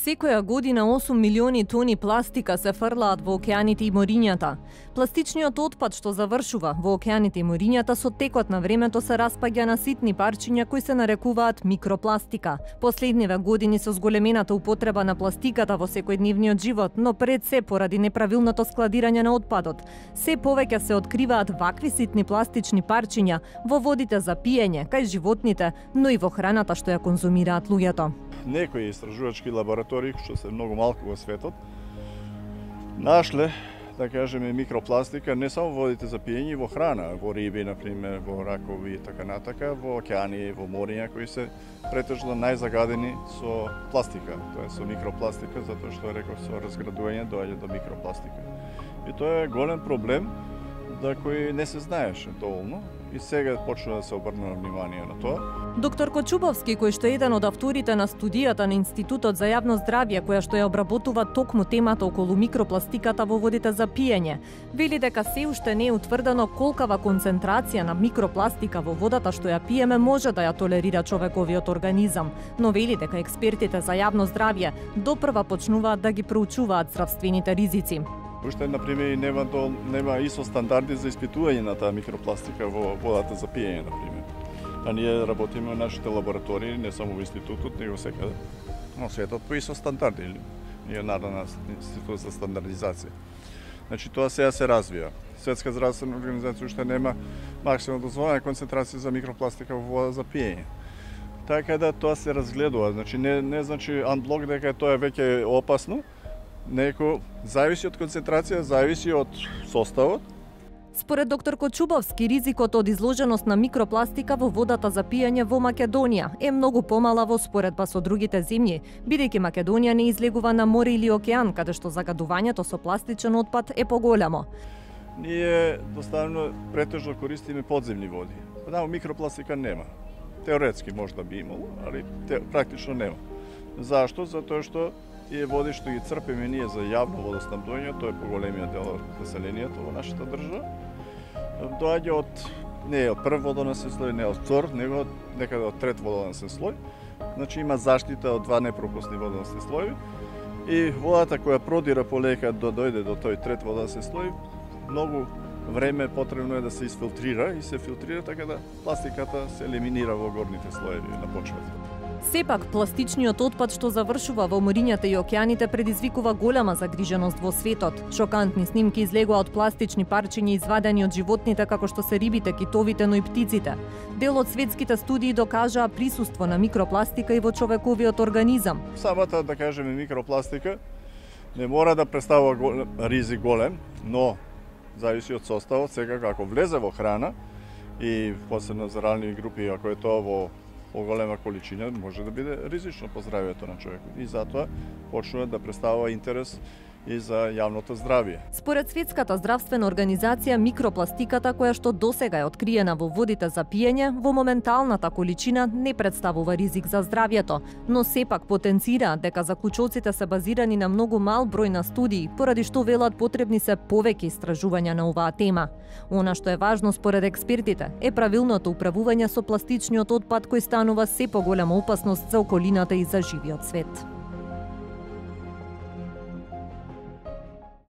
Секоја година 8 милиони тони пластика се фрлаат во океаните и морињата. Пластичниот отпад што завршува во океаните и морињата со текот на времето се распаѓа на ситни парчиња кои се нарекуваат микропластика. Последниве години со зголемената употреба на пластиката во секојдневниот живот, но пред се поради неправилното складирање на отпадот, се повеќе се откриваат вакви ситни пластични парчиња во водите за пиење, кај животните, но и во храната што ја конзумираат луѓето. Некои истражувачки лаборатории, што се многу малку во светот, нашле, да кажеме, микропластика не само во водите за пиење, во храна, во риби, например, во ракови и така натака, во океани, во мориња, кои се претежно најзагадени со пластика, тоа е со микропластика, затоа што реков со разградување доаѓа до микропластика. И тоа е голем проблем за кој не се знаеше доволно и сега почна да се обрне внимание на тоа. Доктор Кочубовски, кој што е еден од авторите на студијата на Институтот за јавно здравје, која што ја обработува токму темата околу микропластиката во водите за пиење, вели дека се уште не е утврдено колкава концентрација на микропластика во водата што ја пиеме може да ја толерира човековиот организам, но вели дека експертите за јавно здравје допрва почнуваат да ги проучуваат здравствените ризици. Уште, например, нема ИСО стандарди за испитување на таа микропластика во водата за пиење, например. А ние работиме во нашите лаборатории, не само во институтот, него секаде во светот по ИСО стандарди. Ние Народна институт за стандардизација. Значи, тоа сега се развија. Светска здравствена организација уште нема максимално дозволена концентрација за микропластика во вода за пиење. Така да тоа се разгледува. Значи, не значи анблок дека тоа е веќе опасно, неко зависи од концентрација, зависи од составот. Според доктор Кочубовски, ризикот од изложеност на микропластика во водата за пиење во Македонија е многу помала во споредба со другите земји, бидејќи Македонија не излегува на море или океан, каде што загадувањето со пластичен отпад е поголемо. Ние доставно претежно користиме подземни води. Таму микропластика нема. Теоретски можда би имало, али практично нема. Зашто? Затоа што тие води што ги црпиме ние за јавно водоснабдување, тоа е поголемиот дел од населението во нашата држава, доаѓа од не од прв водоносен слој, не од втор, него некаде од трет водоносен слој. Значи има заштита од два непропусни водоносни слоеви и водата која продира полека да дојде до тој трет водоносен слој, многу време потребно е да се изфилтрира и се филтрира така да пластиката се елиминира во горните слоеви на почвата. Сепак, пластичниот отпад што завршува во морињата и океаните предизвикува голема загриженост во светот. Шокантни снимки излегува од пластични парчиња извадени од животните како што се рибите, китовите, но и птиците. Дел од светските студии докажаа присуство на микропластика и во човековиот организам. Самата, да кажеме, микропластика не мора да представува ризик голем, но зависи од составот. Сега ако влезе во храна и посебно за рани групи, ако е тоа во поголема количина, може да биде ризично по здравјето на човекот. И затоа почнува да представува интерес и за јавното здравје. Според Светската здравствена организација, микропластиката која што досега е откриена во водите за пиење, во моменталната количина не представува ризик за здравјето, но сепак потенцираат дека заклучоците се базирани на многу мал број на студии, поради што велат потребни се повеќе истражувања на оваа тема. Она што е важно според експертите е правилното управување со пластичниот отпад кој станува се поголема опасност за околината и за живиот свет.